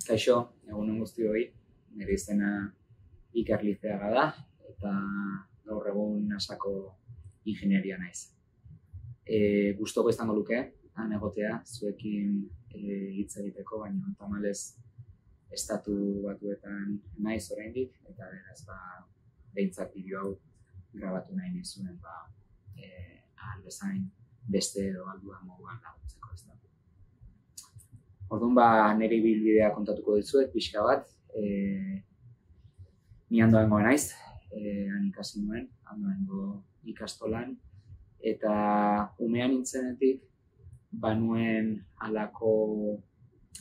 Kaixo, egun on guztioi, nire izena Iker Lizeaga da, eta gaur egun NASAko ingenieria naiz. Gustoko izango luke, han egotea, zuekin hitz egiteko, baina tamalez estatu batuetan naiz oraindik, eta beraz, behintzat bideo hau grabatu nahi nizuen, ahal bezain beste edo alduan moduan laguntzeko ez da. Orduan, nire ibilbidea kontatuko dizuet, pixka bat. Ni Andoaingo naiz, han ikasi nuen, Andoaingo ikastolan, eta umean nintzenetik, banuen halako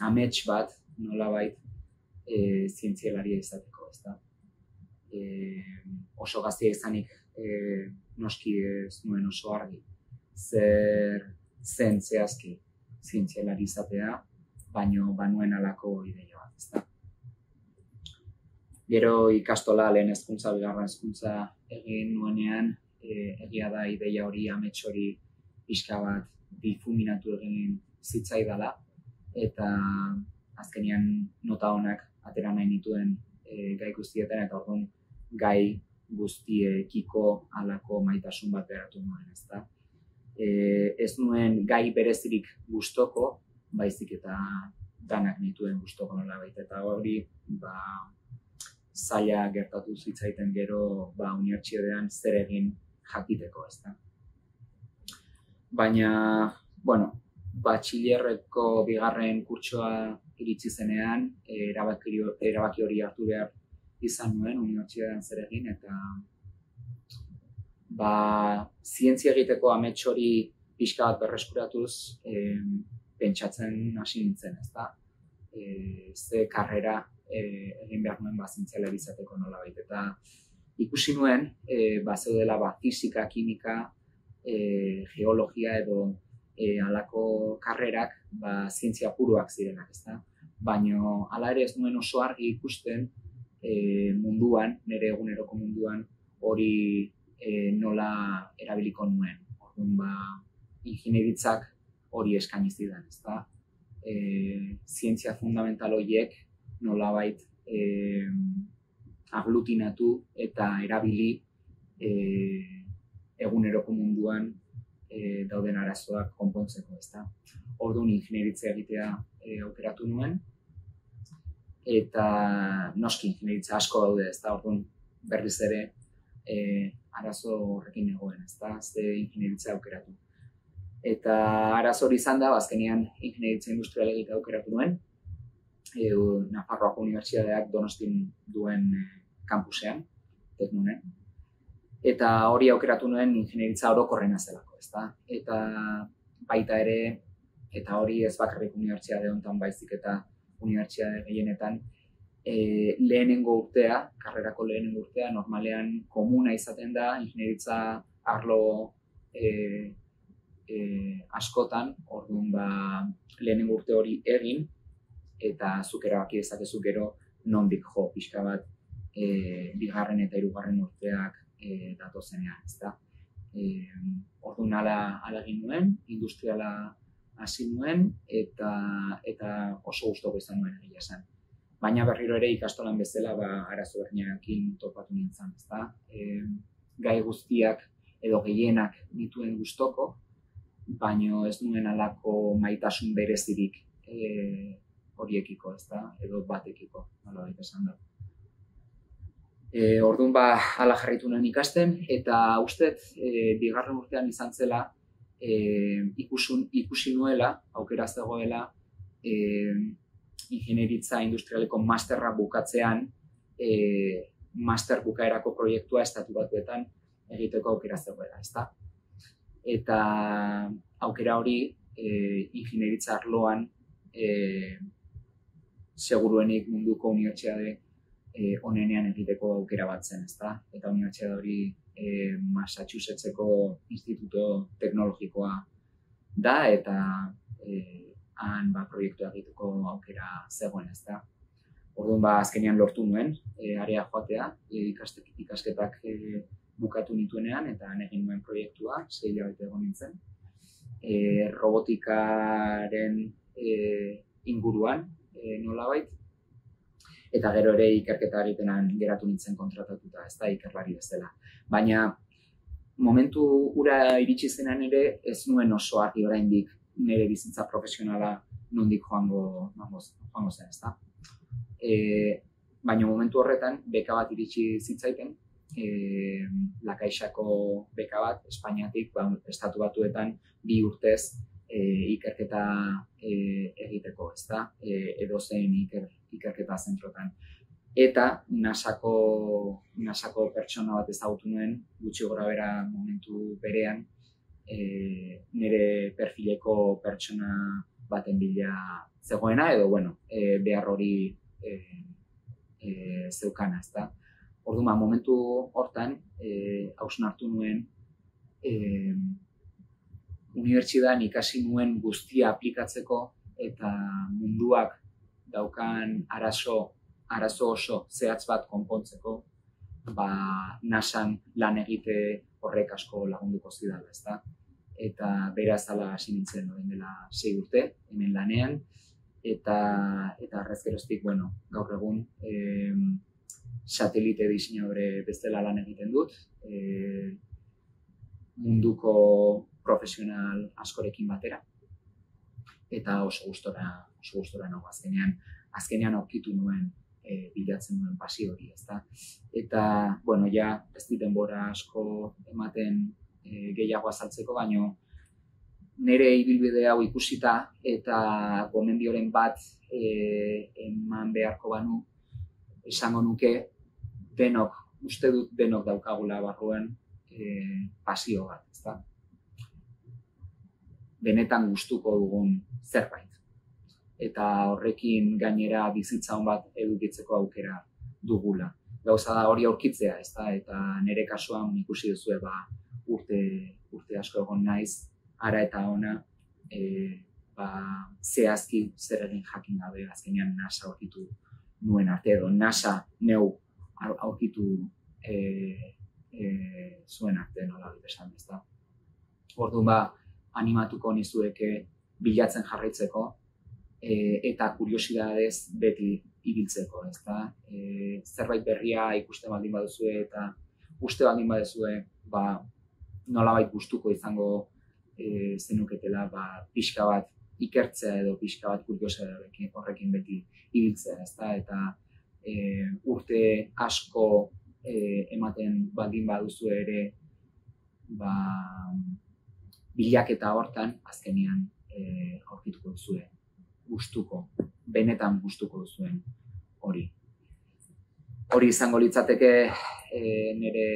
amets bat, nolabait, zientzialaria izateko, ezta. Oso gaztea izanik noski ez nuen oso argi, zer zen zehazki zientzialari izatea, baino banuen halako ideia bat, ezta. Gero ikastola lehen hezkuntza, bigarren hezkuntza egin nuenean, egia da ideia hori, amets hori pixka bat difuminatu egin zitzaidala, eta azkenean nota onak atera nahi nituen gai guztietan, eta orduan gai guztiekiko halako maitasun bat beharatu nuen, ezta. Ez nuen gai berezirik gustoko, baizik eta danak nituen gustoko nolabait, eta hori zaila gertatu zitzaiten gero unibertsitatean zer egin jakiteko, ezta. Baina, batxilerreko bigarren kurtsoa iritsi zenean, erabaki hori hartu behar izan nuen unibertsitatean zer egin, eta zientzia egiteko amets hori pixka bat berreskuratuz, pentsatzen hasi nintzen, ezta? Ze karrera egin behar nuen zientzialari izateko nolabait, eta ikusi nuen bazeudela fisika, kimika, geologia edo halako karrerak zientzia puruak zirenak, ezta? Baina hala ere ez nuen oso argi ikusten munduan, nire eguneroko munduan hori nola erabiliko nuen. Orduan, ingeniaritzak hori eskaini zidan, ezta? Zientzia fundamental horiek nolabait aglutinatu eta erabili eguneroko munduan dauden arazoak konpontzeko, ezta? Orduan ingeniaritza egitea aukeratu nuen, eta noski ingeniaritza asko daude, ezta? Orduan berriz ere arazo horrekin egoen, ezta? Ze ingeniaritza aukeratu. Eta arazo hori izan da, azkenean ingeniaritza industrial egitea aukeratu nuen, Nafarroako Unibertsitateak Donostin duen kampusean, Teknunen. Eta hori aukeratu nuen ingeniaritza orokorrena zelako, ezta? Eta baita ere, eta hori ez bakarrik unibertsitate honetan baizik eta unibertsitate gehienetan, lehenengo urtea, karrerako lehenengo urtea, normalean komuna izaten da, ingeniaritza arlo askotan, orduan lehenengo urte hori egin, eta zuk erabaki dezakezu gero nondik jo pixka bat bigarren eta hirugarren urteak datozenean, ezta. Orduan hala egin nuen, industriala hasi nuen, eta oso gustoko izan nuen egia esan. Baina berriro ere ikastolan bezala arazo berdinekin topatu nintzen, ezta. Gai guztiak edo gehienak nituen gustoko, baina ez nuen halako maitasun berezirik horiekiko, ezta, edo batekiko, nolabait esan da. Orduan hala jarraitu nuen ikasten, eta ustet bigarren urtean izan zela ikusi nuela, aukera zegoela, ingeniaritza industrialeko masterra bukatzean, master bukaerako proiektua estatu batuetan egiteko aukera zegoela, ezta. Eta aukera hori ingeniaritza arloan seguruenik munduko unibertsitate onenean egiteko aukera bat zen, ezta? Eta unibertsitate hori Massachusettseko Instituto Teknologikoa da, eta han proiektua egiteko aukera zegoen, ezta? Orduan azkenean lortu nuen area joatea, ikasketak bukatu nituenean, eta han egin nuen proiektua, 6 hilabete egon nintzen. Robotikaren inguruan, nolabait, eta gero ere ikerketa egitenan geratu nintzen kontratatuta, ez da, ikerlari bezala. Baina momentu ura iritsi zenan ere ez nuen oso argi oraindik nire bizitza profesionala nondik joango zen, ez da. Baina momentu horretan beka bat iritsi zitzaiten, La Caixako beka bat, Espainiatik, Estatu Batuetan 2 urtez ikerketa egiteko, ez da, edozein ikerketa zentrotan. Eta NASAko pertsona bat ezagutu nuen, gutxi gorabehera momentu berean, nire perfileko pertsona baten bila zegoena, edo, behar hori zeukana, ez da. Orduan, momentu hortan, hausnartu nuen, unibertsitatean ikasi nuen guztia aplikatzeko eta munduak daukan arazo oso zehatz bat konpontzeko, NASAn lan egite horrek asko lagunduko zidala, ez da. Eta beraz hala hasi nintzen orain dela 6 urte, hemen lanean, eta arrez geroztik, gaur egun satelite diseinadore bezala lan egiten dut, munduko profesional askorekin batera, eta oso gustora nago azkenean aurkitu nuen bilatzen nuen pasio hori, ezta. Eta, ez dit denbora asko ematen gehiago azaltzeko, baino nire ibilbide hau ikusita eta gomendioren bat eman beharko banu, esango nuke uste dut denok daukagula barruan pasio bat, ezta. Benetan gustuko dugun zerbait. Eta horrekin gainera bizitza on bat edukitzeko aukera dugula. Gauza da hori aurkitzea, ezta, eta nire kasuan ikusi duzue urte asko egon naiz, ara eta ona, zehazki zer egin jakin gabe azkenean NASA aurkitu nuen arte, edo NASA neu aurkitu zuen arte, nola esan, ezta. Orduan animatuko nizueke bilatzen jarraitzeko eta kuriosidadez beti ibiltzeko, ezta. Zerbait berria ikusten baldin baduzue eta uste baldin baduzue, nolabait gustuko izango zenuketela, pixka bat ikertzea edo pixka bat kuriosidade horrekin beti ibiltzea, ezta. Eta urte asko ematen baldin baduzue ere, bilaketa hortan azkenean aurkituko duzue benetan gustuko duzuen hori. Hori izango litzateke nire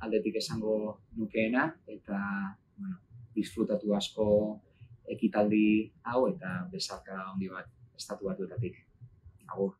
aldetik esango nukeena, eta disfrutatu asko ekitaldi hau eta besarka handi bat Estatu Batuetatik. Agur.